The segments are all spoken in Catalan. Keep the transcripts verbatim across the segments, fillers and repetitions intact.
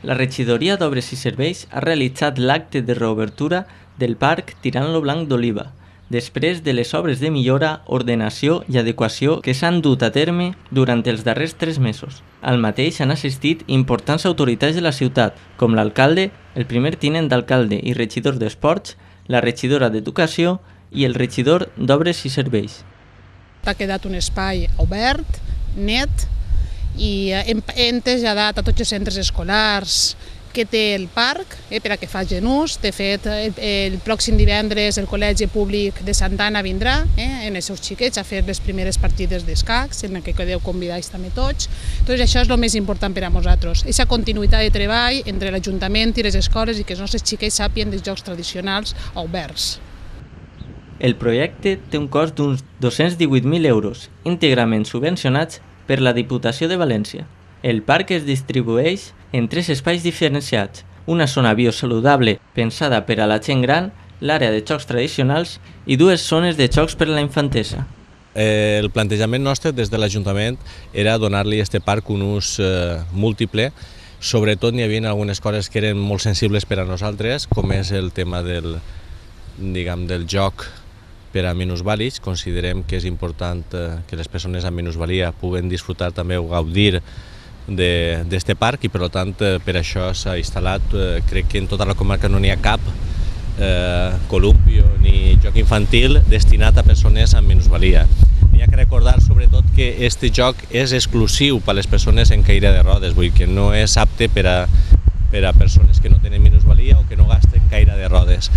La regidoria d'Obres i Serveis ha realitzat l'acte de reobertura del parc Tirant lo Blanc d'Oliva, després de les obres de millora, ordenació i adequació que s'han dut a terme durant els darrers tres mesos. Al mateix han assistit importants autoritats de la ciutat, com l'alcalde, el primer tinent d'alcalde i regidor d'Esports, la regidora d'Educació i el regidor d'Obres i Serveis. Ha quedat un espai obert, net, i hem, hem traslladat a tots els centres escolars que té el parc eh, per a que facin ús. De fet, el, el pròxim divendres el Col·legi Públic de Santa Anna vindrà eh, en els seus xiquets a fer les primeres partides d'escacs, en què quedeu convidats també tots. Doncs això és el més important per a nosaltres, aquesta continuïtat de treball entre l'Ajuntament i les escoles i que els nostres xiquets sàpien dels jocs tradicionals oberts. El projecte té un cost d'uns dos-cents divuit mil euros, íntegrament subvencionats per la Diputació de València. El parc es distribueix en tres espais diferenciats, una zona biosaludable pensada per a la gent gran, l'àrea de jocs tradicionals i dues zones de jocs per a la infantesa. Eh, el plantejament nostre des de l'Ajuntament era donar-li a aquest parc un ús eh, múltiple. Sobretot n'hi havia algunes coses que eren molt sensibles per a nosaltres, com és el tema del, diguem, del joc per a minusvàlids. Considerem que és important eh, que les persones amb minusvalia puguen disfrutar també o gaudir d'aquest parc i per tant per això s'ha instal·lat, eh, crec que en tota la comarca no n'hi ha cap eh, columpio ni joc infantil destinat a persones amb minusvalia. N'hi ha que recordar sobretot que aquest joc és exclusiu per a les persones en caire de rodes, vull dir que no és apte per a, per a persones que no tenen minusvalia o que no gasten caire de rodes.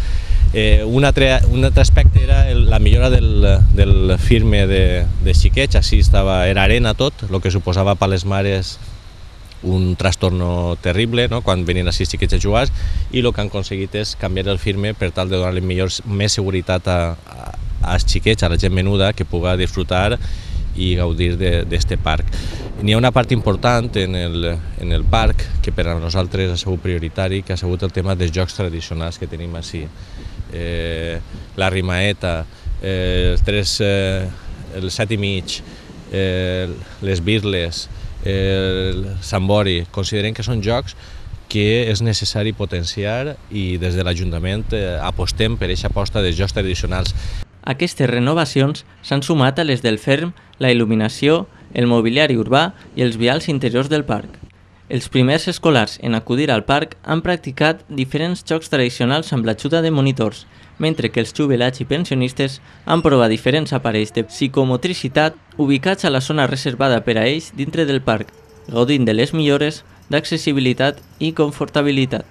Eh, un, altre, un altre aspecte era el, la millora del, del firme de, de xiquets, així estava, era arena tot, el que suposava per a les mares un trastorno terrible, no?, quan venien així xiquets a jugar, i el que han aconseguit és canviar el firme per tal de donar-li millor, més seguretat a, a, als xiquets, a la gent menuda, que puga disfrutar i gaudir d'aquest parc. N'hi ha una part important en el, en el parc que per a nosaltres ha sigut prioritari, que ha sigut el tema dels jocs tradicionals que tenim així. Eh, la rimaeta, eh, el, tres, eh, el set i mig, eh, les birles, el sambori. Considerem que són jocs que és necessari potenciar i des de l'Ajuntament eh, apostem per aquesta aposta dels jocs tradicionals. Aquestes renovacions s'han sumat a les del ferm, la il·luminació, el mobiliari urbà i els vials interiors del parc. Els primers escolars en acudir al parc han practicat diferents jocs tradicionals amb l'ajuda de monitors, mentre que els jubilats i pensionistes han provat diferents aparells de psicomotricitat ubicats a la zona reservada per a ells dintre del parc, gaudint de les millores d'accessibilitat i confortabilitat.